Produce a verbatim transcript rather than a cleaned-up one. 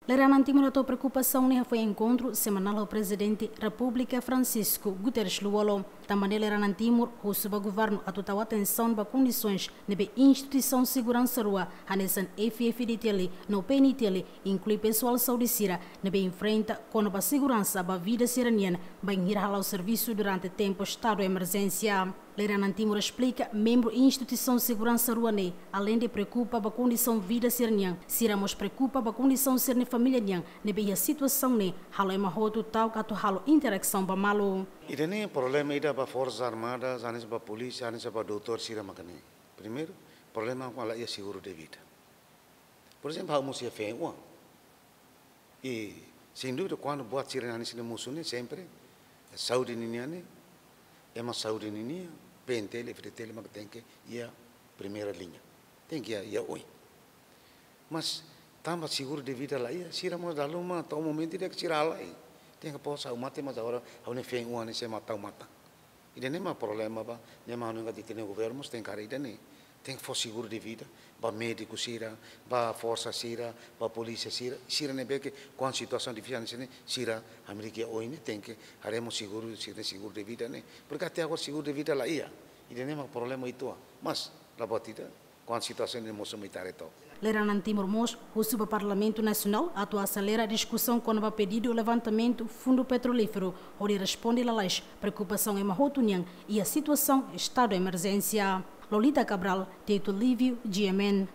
Leranan Timor atu preokupasaun ne'e hafoin enkontru semanál ho Prezidente Repúblika Francisco Guterres Lú-Olo. Tanba ne'e leranan Timor husu ba governu atu tau atensaun ba kondisoens ne'ebé instituisaun seguransa rua hanesan F F D T L no P N T L inklui pesoál saúde sira ne'ebé enfrenta kona-ba seguransa ba vida sira-nian bainhira hala'o servisu durante tempu estadu emerjénsia. Leranan Timor esplika, membru instituisaun seguransa rua ne'e, aleinde preokupa ba kondisaun vida sira-nian, sira mós preokupa ba kondisaun sira-nia família nian ne'ebé iha situasaun ne'e halo ema hotu ta'uk atu halo interasaun ba malu. Ida-ne'e problema ida ba Forsas Armadas, hanesan ba polísia, hanesan ba doutór sira maka ne'e. Primeiru, problema kona-ba la iha seguru de vida. Por ezemplu, ha'u mosu iha feen oan. I, sein dúvida, kuandu buat sira-ne'e hanesan ne'e mosu ne'e sempre, saúde ninian ne'e, ema saúde ninian, P N T L, F D T L maka tenke iha primeira liña. Tenke iha, iha oin. Mas, tanba seguru de vida la iha, sira mós dala ruma, to'o momentu ida ke sira halai. Tenke pos ha'u mate, mas agora, ha'u-nia feen oan ne'e sei mate, ha'u mate. Ida-ne'e mak problema ba, ne'e mak ha'u hanoin katak ita-nia governu mós tenke haree ida-ne'e. Tenke fó seguru de vida ba médiku sira, ba forsa sira, ba polísia sira, sira ne'ebé ke kuandu situasaun difisil hanesan ne'e, sira hamriik iha oin ne'e tenke haree mós seguru, sira-nia seguru de vida ne'e. Porke até agora seguru de vida la iha. Ida-ne'e mak problema uitoan. Mas, la buat ida, kuandu situasaun ne'e mosu mai ita haree to'ok. Leranan Timor mós husu ba Parlamentu Nasionál atu aselera diskusaun kona-ba pedidu levantamentu fundu petrolíferu, hodi responde lalais preokupasaun ema hotu nian iha situasaun estadu emerjénsia. Lolita Cabral, Tito Lívio, G M N.